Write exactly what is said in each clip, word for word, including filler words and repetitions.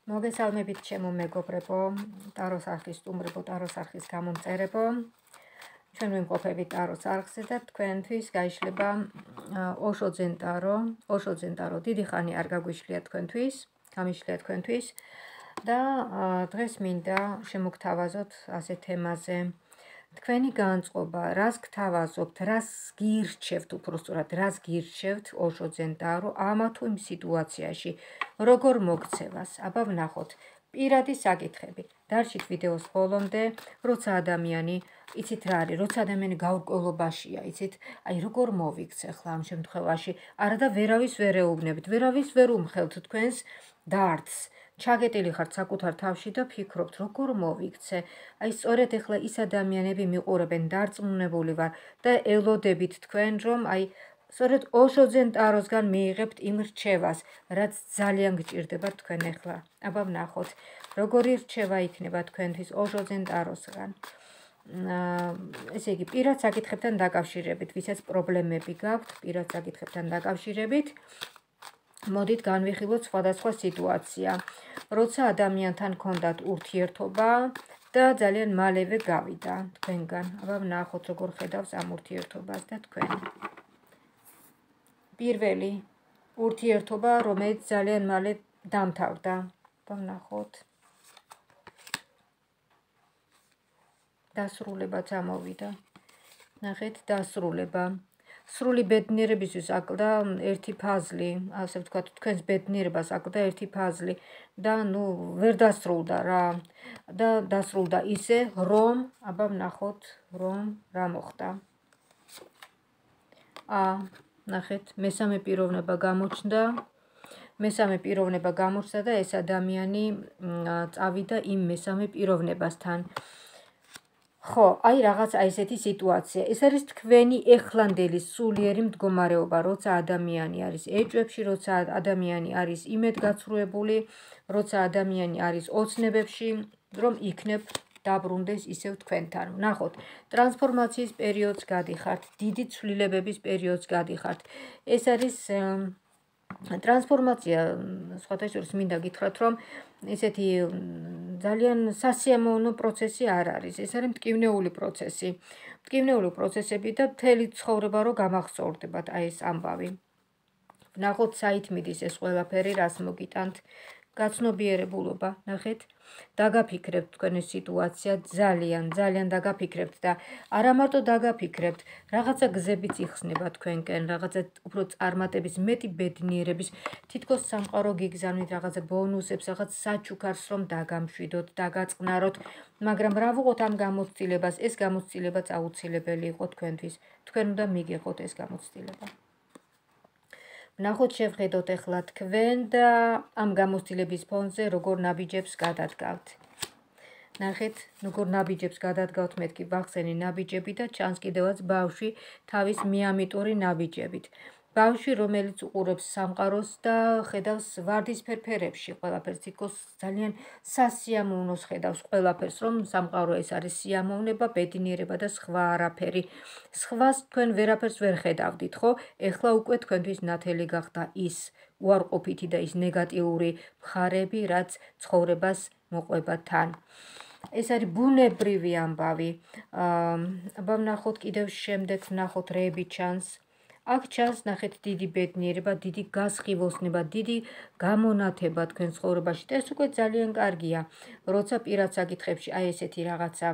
მოგესალმებით ჩემო მეგობრებო, ტაროს არხის სტუმრებო, ტაროს არხის გამომწერებო. ჩვენ ვიმყოფებით ტაროს არხზე და თქვენთვის გაიშლება ოშო ძენ ტარო. ოშო ძენ ტარო დიდი ხანი არ გაგვიშლია თქვენთვის, გამიშლია თქვენთვის და დღეს მინდა შემოგთავაზოთ ასე თემაზე. თქვენი განწყობა, რას გთავაზობთ, რას გირჩევთ, უпростоრად, რას გირჩევთ ოშო ძენ ტარო ამა თუ იმ სიტუაციაში, როგორ მოგცევას, აბა ვნახოთ. პირადი საკითხები. დარჩით ვიდეოს ბოლომდე, როცა ადამიანი, იცით რა არის, როცა ადამიანი გაურკვევლობაშია, იცით, აი როგორ მოვიქცე ხლა ამ შემთხვევაში, არა და ვერავის ვერ ეუბნებით, ვერავის ვერ უმხელთ თქვენს დარდს. ჩაგეტილი ხართ საკუთარ თავში და ფიქრობთ, როგორ მოვიქცე. აი სწორედ ეხლა ის ადამიანები მიყურებენ, დარწმუნებული ვარ და ელოდებით თქვენ, რომ აი სწორედ ოშო ძენ ტაროსგან მიიღებთ იმ რჩევას, რაც ძალიან გჭირდება თქვენ ეხლა. აბა ვნახოთ, როგორი რჩევა იქნება თქვენთვის ოშო ძენ ტაროსგან. ესე იგი, პირად საკითხებთან დაკავშირებით, ვისაც პრობლემები გაქვთ, პირად საკითხებთან დაკავშირებით, მოდით განვიხილოთ სხვადასხვა სიტუაცია, როცა ადამიანთან ჰქონდათ ურთიერთობა და ძალიან მალევე გავიდა თქვენგან. აბა ვნახოთ, როგორ ხედავს ამ ურთიერთობას და თქვენ. პირველი ურთიერთობა, რომელიც ძალიან მალე დამთავრდა. აბა ვნახოთ. დასრულება წამოვიდა. ნახეთ, დასრულება. სრული ბედნიერებისთვის აკლდა ერთი ფაზლი, ასე ვთქვათ, თქვენს ბედნიერებას აკლდა ერთი ფაზლი და ნუ ვერ დასრულდა რა. და დასრულდა ისე, რომ, აბა ვნახოთ, რომ რა მოხდა. ა, ნახეთ, მესამე პიროვნება გამოჩნდა. მესამე პიროვნება გამოჩნდა და ეს ადამიანი წავიდა იმ მესამე პიროვნებასთან. ხო, აი რაღაც აი ესეთი სიტუაცია. ეს არის თქვენი ეხლანდელი სულიერი მდგომარეობა, როცა ადამიანი არის ეჭვებში, როცა ადამიანი არის იმედგაცრუებული, როცა ადამიანი არის ოცნებებში, რომ იქნებ დაბრუნდეს ისევ თქვენთან. ვნახოთ, ტრანსფორმაციის პერიოდს გადიხართ, დიდი ცვლილებების პერიოდს გადიხართ. ეს არის ტრანსფორმაცია, სხვათა შორის მინდა გითხრათ, რომ ესეთი ძალიან სასიამოვნო პროცესი არ არის. ეს არის მტკივნეული პროცესი. მტკივნეული პროცესები და მთელი ცხოვრება რო გამახსოვრდებათ აი ეს ამბავი. ვნახოთ, საით მიდის ეს ყველაფერი, რას მოგიტანთ. გაცნობიერებულობა, ნახეთ, დაგაფიქრებთ თქვენი სიტუაცია, ძალიან, ძალიან დაგაფიქრებთ და არა მარტო დაგაფიქრებთ, რაღაცა გზებიც იხსნება თქვენკენ, რაღაცა უფრო წარმატების, მეტი ბედნიერების, თითქოს სამყარო გიგზავნით, რაღაცა ბონუსებს, რაღაც საჩუქარს რომ დაგამშვიდოთ, დაგაწყნაროთ, მაგრამ რა ვუყოთ ამ გამოცდილებას, ეს გამოცდილებაც აუცილებელი იყო თქვენთვის. თქვენ უნდა მიგიღოთ ეს გამოცდილება. ვნახოთ, შევხედოთ ეხლა თქვენ და ამ გამოცდილების ფონზე როგორ ნაბიჯებს გადადგავთ. ნახეთ, როგორ ნაბიჯებს გადადგავთ, მეთქი ვახსენი ნაბიჯები და ჩანს კიდევაც ბავშვი თავის მიამიტური ნაბიჯებით. ბავშვი, რომელიც უყურებს სამყაროს და ხედავს ვარდისფერ ფერებში ყველაფერს, თითქოს ძალიან სასიამოვნოს ხედავს ყველაფერს, რომ სამყარო ეს არის სიამოვნება, ბედნიერება და სხვა არაფერი. სხვას თქვენ ვერაფერს ვერ ხედავდით, ხო? ეხლა უკვე თქვენთვის ნათელი გახდა ის უარყოფითი და ის ნეგატიური მხარეები, რაც ცხოვრებას მოყვება თან. ეს არის ბუნებრივი ამბავი. აბა ვნახოთ კიდევ შემდეგ, ვნახოთ რეები ჩანს. აქ ჩანს, ნახეთ, დიდი ბედნიერება, დიდი გასხივოსნება, დიდი გამონათება თქვენ ცხოვრებაში და ეს უკვე ძალიან კარგია, როცა პირად საკითხებში აი ესეთი რაღაცა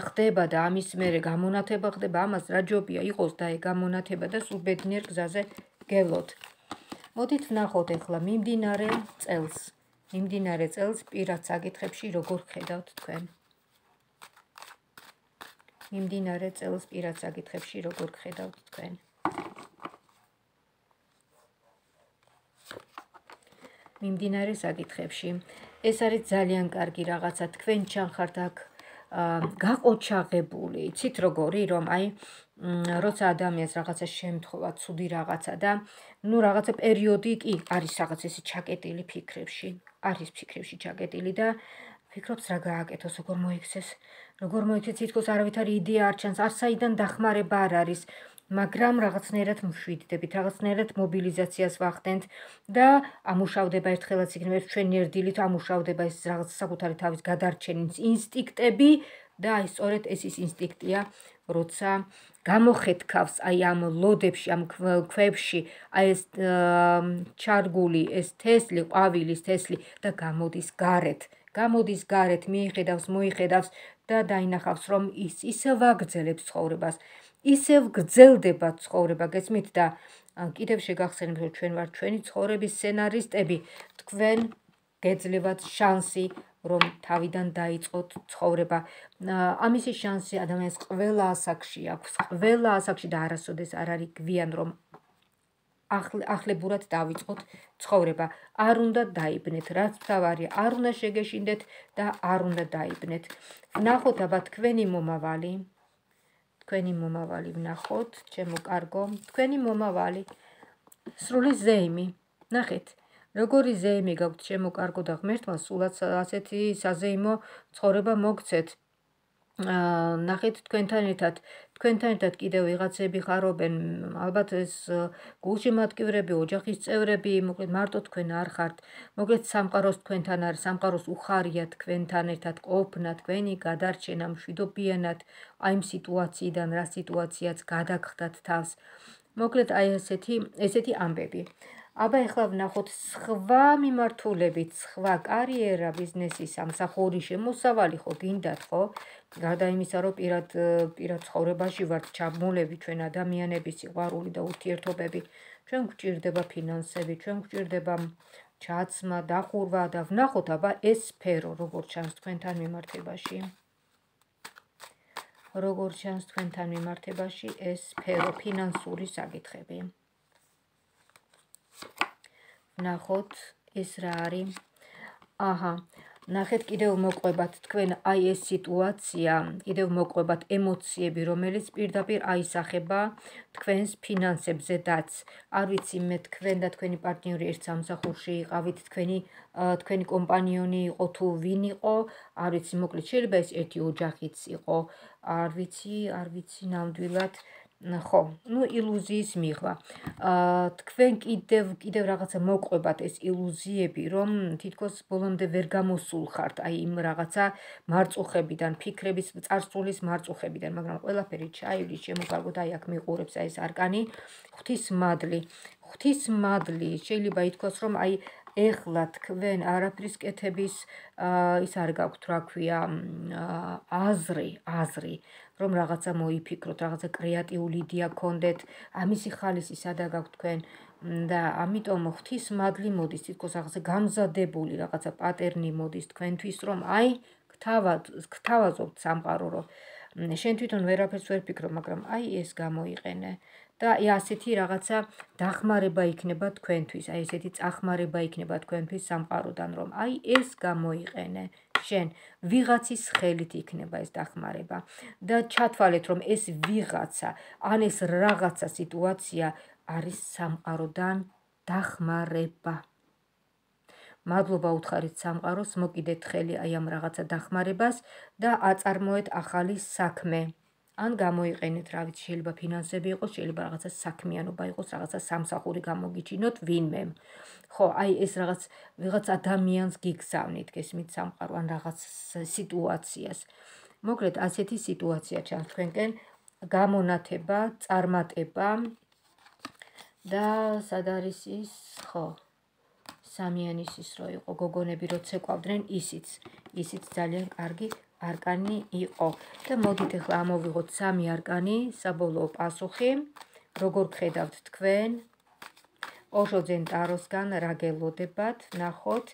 ხდება და ამის მერე გამონათება ხდება, ამას რა ჯობია იყოს და აი გამონათება და სულ ბედნიერ გზაზე გევლოთ. მოდით ვნახოთ ეხლა მიმდინარე წელს. მიმდინარე წელს პირად საკითხებში როგორ ხედავთ თქვენ. მიმდინარე წელს პირად საკითხებში როგორ ხედავთ თქვენ. მიმდინარე საკითხებში. ეს არის ძალიან კარგი რაღაცა, თქვენ ჩანხართ აქ გაყოჩაღებული, იცით როგორი, რომ აი როცა ადამიანს რაღაცა შემთხვევა, ცუდი რაღაცა და ნუ რაღაცა პერიოდი კი არის რაღაც ესე ჩაკეტილი ფიქრებში, არის ფიქრებში ჩაკეტილი და ფიქრობს რა გააკეთოს, როგორ მოიქცეს, როგორ მოიქცეს, თითქოს არავითარი იდეა არ ჩანს, არ საიდან დახმარება არ არის. მაგრამ რაღაცნაირად მშვიდდებით, რაღაცნაირად მობილიზაციას ვახდენთ და ამუშავდება ერთხელაც იქნება ეს ჩვენი ერთდილით ამუშავდება ეს რაღაც საკუთარი თავის გადარჩენის ინსტინქტები და აი სწორედ ეს ის ინსტინქტია, როცა გამოხეთქავს აი ამ ლოდებში, ამ ქვებში აი ეს ჩარგული, ეს თესლი, ყვავილის თესლი და გამოდის გარეთ. გამოდის გარეთ, მიიხედავს, მოიხედავს და დაინახავს, რომ ის ისევ აგრძელებს ცხოვრებას. ისევ გრძელდება ცხოვრება, გესმით და კიდევ შეგახსენებთ, რომ ჩვენ ვართ ჩვენი ცხოვრების სცენარისტები, თქვენ გეძლევათ შანსი, რომ თავიდან დაიწყოთ ცხოვრება. ამისი შანსი ადამიანს ყველა ასაკში აქვს, ყველა ასაკში და არასოდეს არ არის გვიან, რომ ახლებურად დავიწყოთ ცხოვრება. არ უნდა დაიბნეთ, რაც თავარია, არ უნდა შეგეშინდეთ და არ უნდა დაიბნეთ. ვნახოთ აბა თქვენი მომავალი. თქვენი მომავალი ვნახოთ, ჩემო კარგო, თქვენი მომავალი. სრული ზეიმი. ნახეთ, როგორი ზეიმი გაქვთ ჩემო კარგო და ღმერთმა სულაც ასეთი საზეიმო ცხოვრება მოგცეთ. ნახეთ თქვენთან ერთად, თქვენთან ერთად კიდევ ვიღაცები ხარობენ, ალბათ ეს გულშემატკივრები, ოჯახის წევრები, მოკლედ მარტო თქვენ არ ხართ. მოკლედ სამყაროს თქვენთან არის, სამყაროს უხარია თქვენთან ერთად ყოფნა, თქვენი გადარჩენა მშვიდობიანად, აი ამ სიტუაციიდან, რა სიტუაციაც გადაგხდათ თავს. მოკლედ აი ესეთი, ესეთი ამბები. აბა ეხლა ვნახოთ სხვა მიმართულებით, სხვა კარიერა, ბიზნესი, სამსახური, შემოსავალი ხო გინდათ ხო? გარდა იმისა, რომ პირად პირად ცხოვრებაში ვართ ჩაბმულები ჩვენ ადამიანები, სიყვარული და ურთიერთობები, ჩვენ გვჭირდება ფინანსები, ჩვენ გვჭირდება ჩაცმა, დახურვა და ვნახოთ აბა ეს სფერო როგორ ჩანს თქვენთან მიმართებაში. როგორ ჩანს თქვენთან მიმართებაში ეს სფერო, ფინანსური საკითხები. ვნახოთ ეს რა არის. აჰა, ნახეთ კიდევ მოყვებათ თქვენ აი ეს სიტუაცია, კიდევ მოყვებათ ემოციები, რომელიც პირდაპირ აისახება თქვენს ფინანსებზედაც. არ ვიცი მე თქვენ და თქვენი პარტნიორი ერთ სამსახურში იყავით, თქვენი თქვენი კომპანიონი იყო თუ ვინ იყო, არ ვიცი, მოკლედ შეიძლება ეს ერთი ოჯახიც იყო, არ ვიცი, არ ვიცი ნამდვილად. ხო, ну ილუზიის მიღვა. თქვენ კიდევ კიდევ რაღაცა მოყვებათ ეს ილუზიები, რომ თითქოს ბოლომდე ვერ გამოსულხართ აი იმ რაღაცა მარწუხებიდან, ფიქრების წარსულის მარწუხებიდან, მაგრამ ყველაფერი ჩაივლის, შემოგარგოთ აი აქ მიყურებს აი ეს არკანი, ღვთისმადლი. ღვთისმადლი შეიძლება ითქვას, რომ აი ეხლა თქვენ არაფრის კეთების ის არ გაქვთ, რა ქვია, აზრი, აზრი. რომ რაღაცა მოიფიქროთ, რაღაცა კრეატიული იდეა გქონდეთ, ამისი ხალისი სადა გაქვთ თქვენ და ამიტომ ღვთისმადლი მოდის, თითქოს რაღაცა გამზადებული რაღაცა პატერნი მოდის თქვენთვის, რომ აი გთავაზობთ სამყარო, რომ შენ თვითონ ვერაფერს ვერ ფიქრო, მაგრამ აი ეს გამოიყენე და აი ასეთი რაღაცა დახმარება იქნება თქვენთვის, აი ესეთი წახმარება იქნება თქვენთვის სამყაროდან, რომ აი ეს გამოიყენე. შენ ვიღაცის ხელით იქნება ეს დახმარება და ჩათვალეთ, რომ ეს ვიღაცა, ან ეს რაღაცა სიტუაცია არის სამყაროდან დახმარება. მადლობა უთხარით სამყაროს, მოკიდეთ ხელი აი ამ რაღაცა დახმარებას და აწარმოეთ ახალი საქმე. ან გამოიყენეთ, რა ვიცი, შეიძლება ფინანსები იყოს, შეიძლება რაღაცა საქმიანობა იყოს, რაღაცა სამსახური გამოგიჩინოთ ვინმე. ხო, აი ეს რაღაც ვიღაც ადამიანს გიგზავნით, გესმით სამყარო, ან რაღაც სიტუაციას. მოკლედ ასეთი სიტუაცია ჩანს თქვენკენ, გამონათება, წარმატება და სად არის ის, ხო, სამიანის ის რო იყო, გოგონები რო ცეკვავდნენ, ისიც, ისიც ძალიან კარგი არკანი იყო. და მოდით ახლა ამოვიღოთ სამი არკანი, საბოლოო პასუხი, როგორ გხედავთ თქვენ, ოშოძენ ტაროსგან რა გელოდებათ, ნახოთ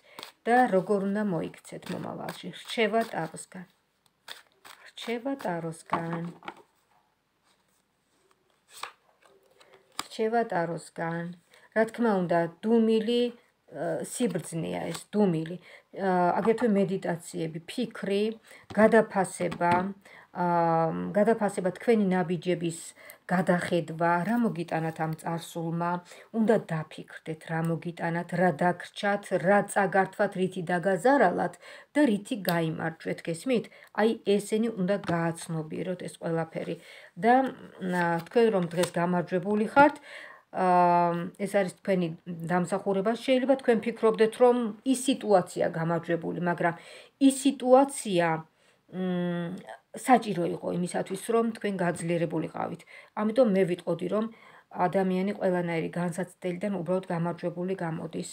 და როგორ უნდა მოიქცეთ მომავალში. რჩევა ტაროსგან. რჩევა ტაროსგან. რჩევა ტაროსგან. რა თქმა უნდა, დუმილი სიბრძნეა ეს, დუმილი. აგრეთვე მედიტაციები, ფიქრი, გადაფასება, გადაფასება თქვენი ნაბიჯების გადახედვა, რა მოგიტანათ ამ წარსულმა, უნდა დაფიქრდეთ, რა მოგიტანათ, რა დაგრჩათ, რა წაგართვათ, რითი დაგაზარალათ და რითი გაიმარჯვეთ, გესმით? აი ესენი უნდა გააცნობიეროთ ეს ყველაფერი და თქვენ რომ დღეს გამარჯვებული ხართ, ეს არის თქვენი დამსახურება. შეიძლება თქვენ ფიქრობდეთ, რომ ის სიტუაცია გამარჯვებული, მაგრამ ის სიტუაცია საჭირო იყო იმისათვის, რომ თქვენ გაძლიერებულიყავით. ამიტომ მე ვიტყოდი, რომ ადამიანი ყველანაირი განსაცდელიდან უბრალოდ გამარჯვებული გამოდის.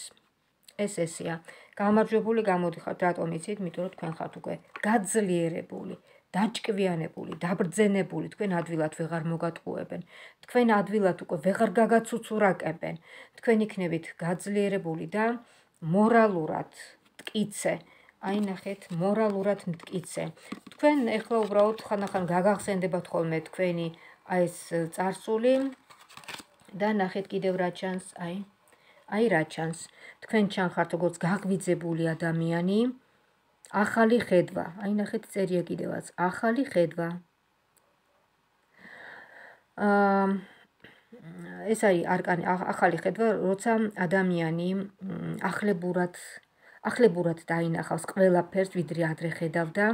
ეს ესეა. გამარჯვებული გამოდიხართ, რატომ იცით? იმიტომ რომ თქვენ ხართ უკვე გაძლიერებული, დაჭკვიანებული, დაბრძენებული, თქვენ ადვილად ვეღარ მოგატყუებენ. თქვენ ადვილად უკვე ვეღარ გაგაცუცურაკებენ. თქვენ იქნებით გაძლიერებული და მორალურად მტკიცე. აი ნახეთ, მორალურად მტკიცე. თქვენ ეხლა უბრალოდ ხანახან გაგახსენდებათ ხოლმე თქვენი აი ეს წარსული და ნახეთ კიდევ რა ჩანს, აი აი რა ჩანს. თქვენ ჩანხართ როგორც გაღვიძებული ადამიანი, ახალი ხედვა. აი ნახეთ წერია კიდევაც, ახალი ხედვა. აა ეს არის არკანი, ახალი ხედვა, როცა ადამიანი ახლებურად ახლებურად დაინახავს ყველაფერს, ვიდრე ადრე ხედავდა,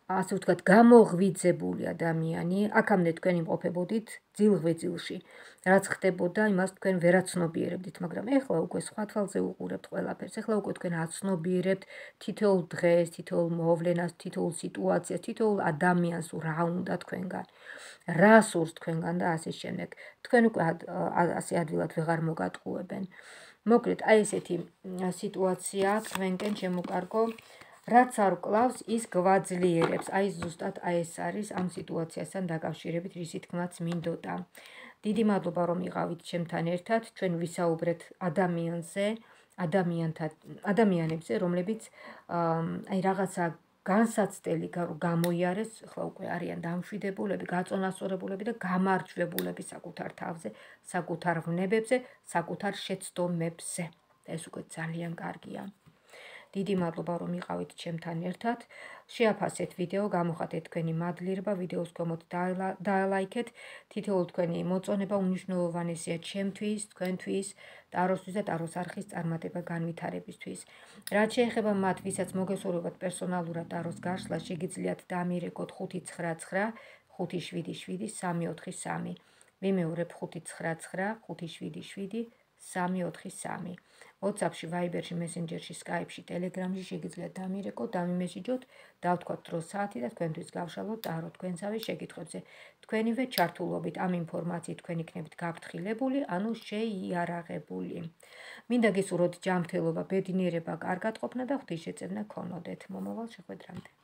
ასე ვთქვათ, გამოღვიძებული ადამიანი, აქამდე თქვენ იმყოფებოდით ძილღვეძილში. რაც ხდებოდა, იმას თქვენ ვერაცნობიერებდით, მაგრამ ეხლა უკვე სხვა თვალზე უყურებთ ყველაფერს. ეხლა უკვე თქვენ აცნობიერებთ თითოეულ დღეს, თითოეულ მოვლენას, თითოეულ სიტუაციას, თითოეულ ადამიანს, რა უნდა თქვენგან, რა სურს თქვენგან და ასე შემდეგ. თქვენ უკვე ასე ადვილად ვეღარ მოგატყუებენ. მოკლედ, აი ესეთი სიტუაცია თქვენკენ შემოკარგო, რაც არ კლავს, ის გვაძლიერებს. აი ზუსტად აი ეს არის ამ სიტუაციასთან დაკავშირებით, რისი თქმაც მინდოდა. დიდი მადლობა რომ იყავით ჩემთან ერთად, ჩვენ ვისაუბრეთ ადამიანზე, ადამიანთა ადამიანებზე, რომლებიც აი რაღაცა განსაცდელი გამოიარეს, ახლა უკვე არიან დამშვიდებულები, გაწონასწორებულები და გამარჯვებულები საკუთარ თავზე, საკუთარ ვნებებზე, საკუთარ შეცდომებზე. ეს უკვე ძალიან კარგია. დიდი მადლობა რომ იყავით ჩემთან ერთად. შეაფასეთ ვიდეო, გამოხატეთ თქვენი მადლიერება, ვიდეოს ქვემოთ დაალაიქეთ. თითოეულ თქვენი მოწონება უმნიშვნელოვანესია ჩემთვის, თქვენთვის, ტაროსთვის და ტაროს არხის წარმატება განვითარებისთვის. რაც შეეხება მათ, ვისაც მოგესურვებათ პერსონალურად ტაროს გაშლა, შეგიძლიათ დამირეკოთ ხუთი ცხრა ცხრა ხუთი შვიდი შვიდი სამი ოთხი სამი. ვიმეორებ ხუთი ცხრა ცხრა ხუთი შვიდი შვიდი სამი ოთხი სამი. WhatsApp-ში, Viber-ში, Messenger-ში, Skype-ში, Telegram-ში შეგიძლიათ დამირეკოთ, დამიმესიჯოთ, დავთქვათ დრო საათი და თქვენთვის გავშალოთ ტარო თქვენსავე შეკითხვებზე. თქვენივე ჩართულობით ამ ინფორმაციით თქვენ იქნებით გაფრთხილებული, ანუ შეიარაღებული. მინდა გესურვოთ ჯანმრთელობა, ბედნიერება, კარგად ყოფნა და ღვთისშეწევნა გქონოდეთ. მომავალ შეხვედრამდე.